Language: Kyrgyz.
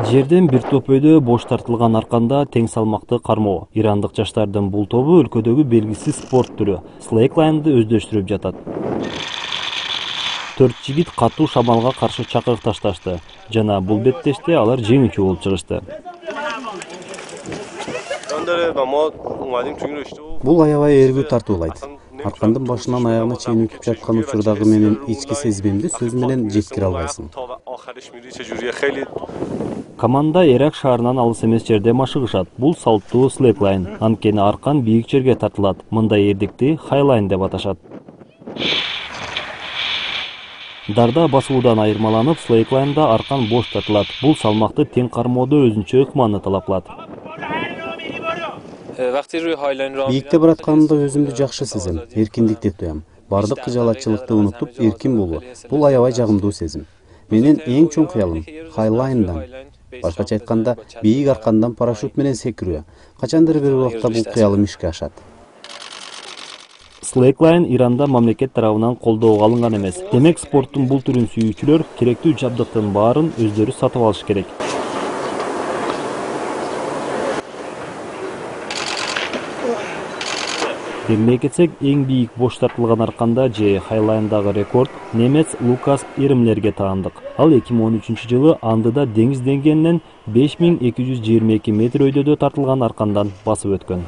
Жерден бир топ өйдө бош тартылган арканда тең салмакты кармоо. Ирандык жаштардын бул тобу өлкөдөгү белгисиз спорт түрү слэклайнды өздөштүрүп жатат. 4 жигит катуу шамалга каршы чакырык ташташты жана бул беттеште алар жеңүүчү болуп чыгышты. Бул аябай эргүү тартуулайт. Аркандын башынан аягына чейин өтүп жаткан учурдагы менин ички сезимимди сөз менен жеткире албайсың. Команда Эрак шаарынан алыс эмес жерде машыгышат. Бул салттуу слэклайн. Анткени аркан бийик жерге тартылат. Мындай эрдикти хайлайн деп аташат. Дарда басуудан айырмаланып, слэклайнда аркан бош тартылат. Бул салмакты тең кармоодо өзүнчө ыкманы талап кылат. Бийикте баратканымда өзүмдү жакшы сезем, эркиндикти туям. Бардык кыжалатчылыкты унутуп, эркин болуу. Бул аябай жагымдуу сезим. Менин эң чоң кыялым хайлайндан. Башкача айтканда, бийик аркандан парашют менен секирүү. Качандыр бир убакта бул кыялым ишке ашат. Слэклайн Иранда мамлекет тарабынан колдоого алынган эмес. Демек, спорттун бул түрүн сүйүүчүлөр керектүү жабдыктын баарын өздөрү сатып алыш керек. Белгилей кетсек, эң бийик бош тартылган арканда же хайлайндагы рекорд немец Лукас Ирмлерге таандык. Ал 2013 жылы Андыда деңиз деңгээлинен 5222 метр өйдөдө тартылган аркандан басып өткөн.